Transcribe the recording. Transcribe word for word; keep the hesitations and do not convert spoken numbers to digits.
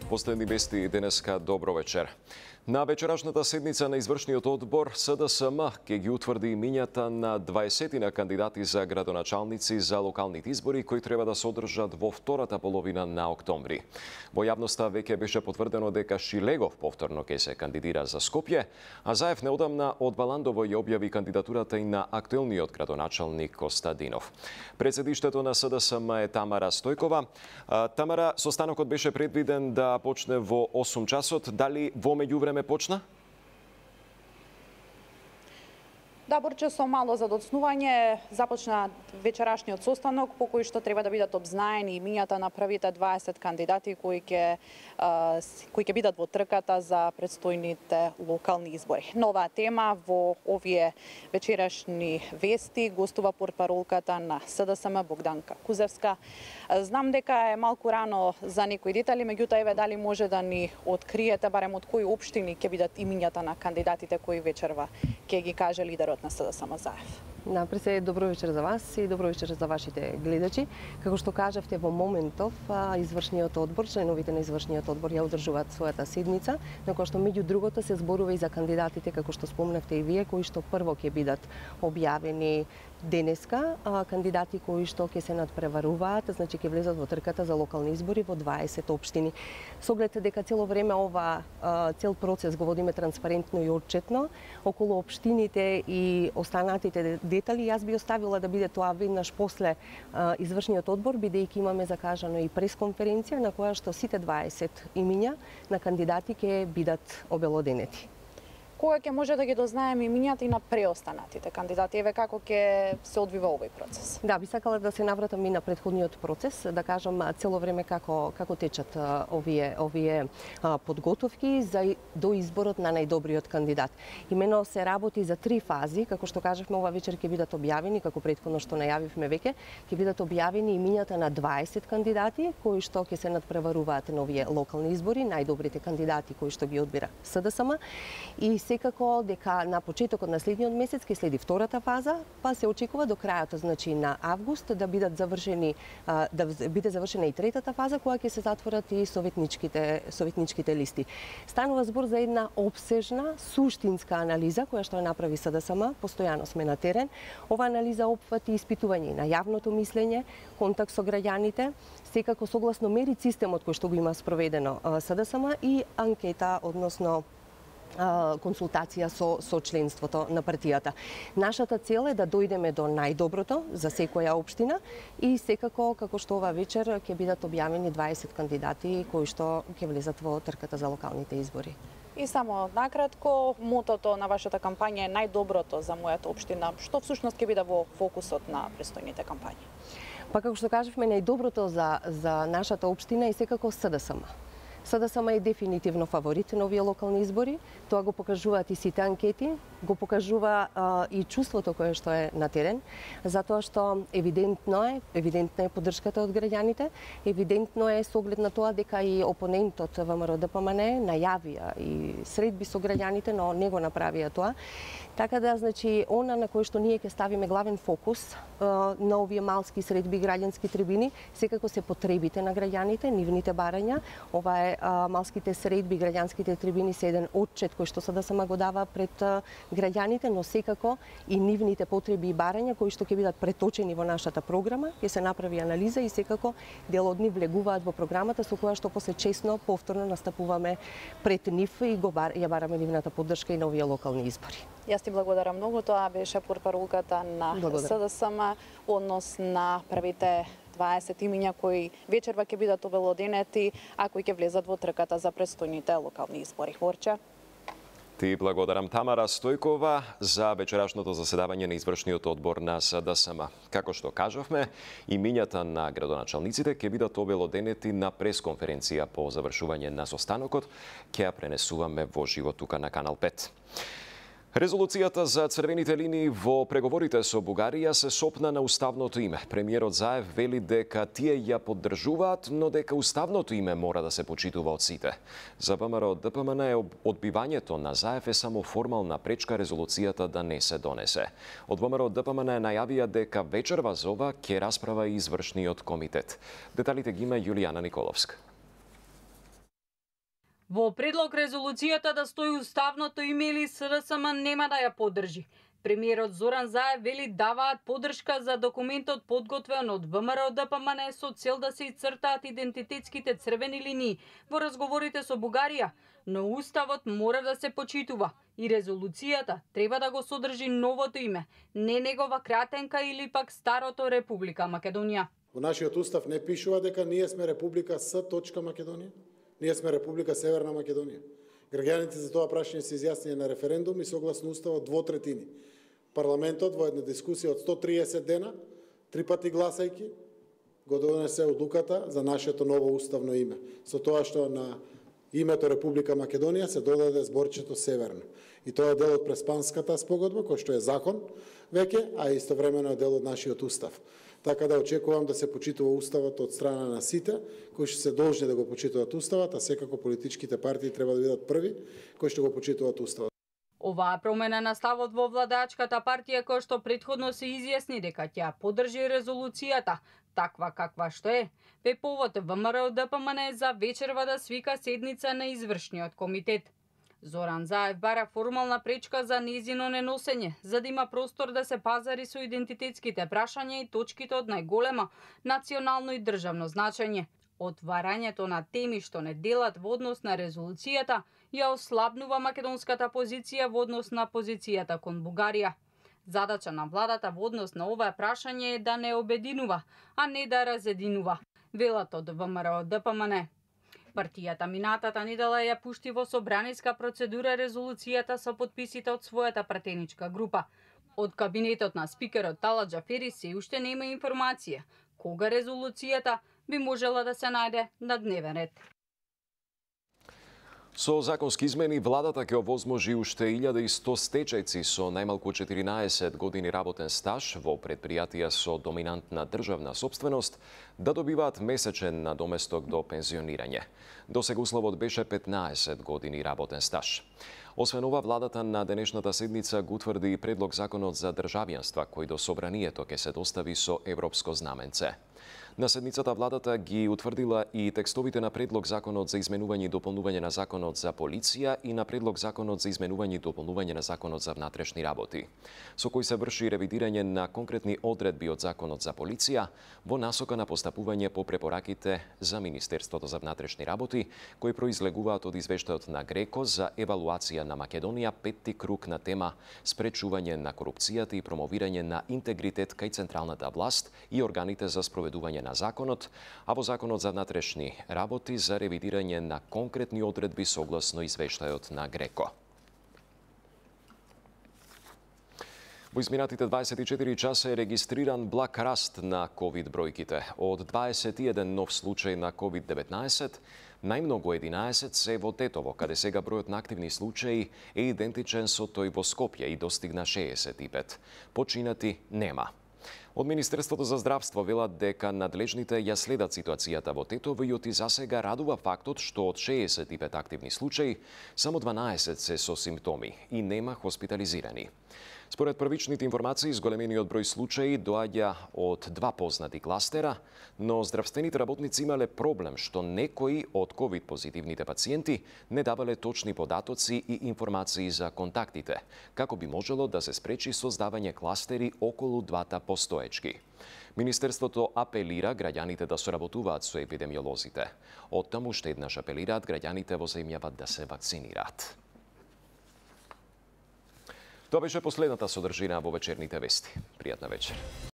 Последни вести денеска, добро вечер. На вечерашната седница на извршниот одбор СДСМ ќе ги утврди имињата на дваесет кандидати за градоначалници за локалните избори кои треба да се одржат во втората половина на октомври. Во јавноста веќе беше потврдено дека Шилегов повторно ќе се кандидира за Скопје, а Заев неодамна од Баландово ја објави кандидатурата и на актуелниот градоначалник Костадинов. Председиштето на СДСМ е Тамара Стојкова. Тамара, состанокот беше предвиден да почне во осум часот. Дали во меѓувреме почна? Да, Борче, со мало задоцнување започна вечерашниот состанок по кој што треба да бидат обзнаени имињата на првите дваесет кандидати кои ќе кои ќе бидат во трката за предстојните локални избори. Нова тема во овие вечерашни вести гостува портпаролката на СДСМ Богданка Кузевска. Знам дека е малку рано за некои детали, меѓутоа еве дали може да ни откриете барем од кои општини ќе бидат имињата на кандидатите кои вечерва ќе ги каже лидерот на СДСМ Заев. Напред се добро вечер за вас и добро вечер за вашите гледачи. Како што кажавте, во моментов извршниот одбор, членовите на извршниот одбор ја одржуваат својата седница, на која што меѓу другото се зборува и за кандидатите, како што спомнавте и вие, кои што прво ќе бидат објавени денеска, кандидати кои што ќе се надпреваруваат, значи ќе влезат во трката за локални избори во дваесет општини. Со оглед дека цело време ова цел процес го водиме транспарентно и отчетно, околу општините и останатите детали, јас би оставила да биде тоа веднаш после а, извршниот одбор, бидејќи имаме закажано и пресконференција на која што сите дваесет имиња на кандидати ќе бидат обелоденети. Кога ќе може да ги дознаеме имињата и на преостанатите кандидати? Еве како ќе се одвива овој процес? Да, би сакала да се навратам и на претходниот процес, да кажам цело време како како течат овие овие а, подготовки за до изборот на најдобриот кандидат. Имено се работи за три фази, како што кажавме, ова вечер ќе бидат објавени, како претходно што најавивме веќе, ќе бидат објавени имињата на дваесет кандидати кои што ќе се надпреваруваат на овие локални избори, најдобрите кандидати кои што ги одбира СДСМ, и секако дека на почетокот на следниот месец ќе следи втората фаза, па се очекува до крајот, значи на август, да бидат завршени да биде завршена и третата фаза која ќе се затворат и советничките советничките листи. Станува збор за една опсежна, суштинска анализа која што ја направи СДСМ, постојано сме на терен. Ова анализа опфати испитување на јавното мислење, контакт со граѓаните, секако согласно мерит системот кој што го има спроведено СДСМ и анкета, односно консултација со, со членството на партијата. Нашата цел е да дојдеме до најдоброто за секоја општина и секако, како што ова вечер, ќе бидат објавени дваесет кандидати кои што ќе влезат во трката за локалните избори. И само накратко, мотото на вашата кампања е најдоброто за мојата општина. Што всушност ќе биде во фокусот на престојните кампањи? Па како што кажавме, најдоброто за, за нашата општина е секако СДСМ. СДСМ е дефинитивно фаворит на овие локални избори. Тоа го покажуваат и сите анкети, го покажува а, и чувството кое што е на терен, затоа што евидентно е, евидентна е поддршката од граѓаните, евидентно е со оглед на тоа дека и опонентот ВМРО Д П М Н најавија и средби со граѓаните, но не го направија тоа. Така да, значи, она на кој што ние ќе ставиме главен фокус а, на овие малски средби граѓански трибини, секако се потребите на граѓаните, нивните барања. Ова е а, малските средби, граѓанските трибини се еден отчет кој што СДСМ го дава пред а, граѓаните, но секако и нивните потреби и барања кои што ќе бидат преточени во нашата програма, ќе се направи анализа и секако дел од нив влегуваат во програмата со која што после чесно повторно настапуваме пред нив и го бар, ја бараме нивната поддршка и на овие локални избори. Јас ти благодарам многу, тоа беше портпаролката на СДСМ однос на првите дваесет имиња кои вечерва ќе бидат обелоденети, а кои ќе влезат во трката за престојните локални избори. Борче. Ти благодарам, Тамара Стојкова, за вечерашното заседавање на извршниот одбор на СДСМ. Како што кажавме, имињата на градоначалниците ќе бидат обелоденети на пресконференција по завршување на состанокот, ќе ја пренесуваме во живо тука на Канал пет. Резолуцијата за црвените линии во преговорите со Бугарија се сопна на уставното име. Премиерот Заев вели дека тие ја поддржуваат, но дека уставното име мора да се почитува од сите. За ВМРО Д П М Н одбивањето на Заев е само формална пречка резолуцијата да не се донесе. Од ВМРО Д П М Н најавија дека вечерва за ова ќе расправа и извршниот комитет. Деталите ги има Јулијана Николовска. Во предлог резолуцијата да стои уставното име или С Д С М нема да ја поддржи. Премиерот Зоран Заев вели даваат поддршка за документот подготвен од В М Р Д П М Н со цел да се ицртаат идентитетските црвени линии во разговорите со Бугарија, но уставот мора да се почитува и резолуцијата треба да го содржи новото име, не негова кратенка или пак старото Република Македонија. Во нашиот устав не пишува дека ние сме Република С. Македонија, ние сме Република Северна Македонија. Граѓаните за тоа прашање се изјаснија на референдум и согласно уставот двотретини. Парламентот во една дискусија од сто триесет дена, три пати гласајки, го донесе одлуката за нашето ново уставно име. Со тоа што на името Република Македонија се додаде зборчето Северно. И тоа е дел од Преспанската спогодба, кој што е закон веќе, а истовремено е дел од нашиот устав. Така да очекувам да се почитува уставот од страна на сите, кои што се должни да го почитуваат уставот, а секако политичките партии треба да бидат први кои што го почитуваат уставот. Оваа промена на ставот во владачката партија која што претходно се изјасни дека ќе поддржи резолуцијата, таква каква што е, бе повод В М Р Д П М Н за вечерва да свика седница на извршниот комитет. Зоран Заев бара формална пречка за незино неносење, за да има простор да се пазари со идентитетските прашања и точките од најголема национално и државно значење. Отварањето на теми што не делат во однос на резолуцијата ја ослабнува македонската позиција во однос на позицијата кон Бугарија. Задача на владата во однос на ова прашање е да не обединува, а не да разединува, велат од В М Р Д П М Н. Партијата минатата недела ја пушти во собраниска процедура резолуцијата со подписите од својата пратеничка група. Од кабинетот на спикерот Тала Џафери се уште нема информација кога резолуцијата би можела да се најде на дневен ред. Со законски измени, владата ќе овозможи уште илјада и сто стечајци со најмалку четиринаесет години работен стаж во предпријатија со доминантна државна сопственост да добиваат месечен надоместок до пензионирање. Досега условот беше петнаесет години работен стаж. Освен ова, владата на денешната седница го утврди и предлог законот за државјанства, кој до собранието ќе се достави со европско знаменце. На седницата владата ги утврдила и текстовите на предлог законот за изменување и дополнување на законот за полиција и на предлог законот за изменување и дополнување на законот за внатрешни работи, со кој се врши ревидирање на конкретни одредби од законот за полиција во насока на постапување по препораките за Министерството за внатрешни работи, кои произлегуваат од извештајот на Греко за евалуација на Македонија, петти круг на тема спречување на корупцијата и промовирање на интегритет кај централната власт и органите за спроведување на законот, а во законот за внатрешни работи за ревидирање на конкретни одредби согласно извештајот на Греко. Во изминатите дваесет и четири часа е регистриран благ раст на ковид бројките. Од дваесет и еден нов случај на ковид деветнаесет, најмногу единаесет се во Тетово, каде сега бројот на активни случаи е идентичен со тој во Скопје и достигна шеесет и пет. Починати нема. Од Министерството за здравство велат дека надлежните ја следат ситуацијата во Тетово и оти засега радува фактот што од шеесет и пет активни случаи, само дванаесет се со симптоми и нема хоспитализирани. Според првичните информации, зголемениот број случаи доаѓа од два познати кластера, но здравствените работници имале проблем што некои од ковид-позитивните пациенти не давале точни податоци и информации за контактите, како би можело да се спречи создавање кластери околу двата постоечки. Министерството апелира граѓаните да соработуваат со епидемиолозите. Оттаму уште еднаш апелираат граѓаните во земјава да се вакцинираат. Тоа беше последната содржина во вечерните вести. Пријатна вечер.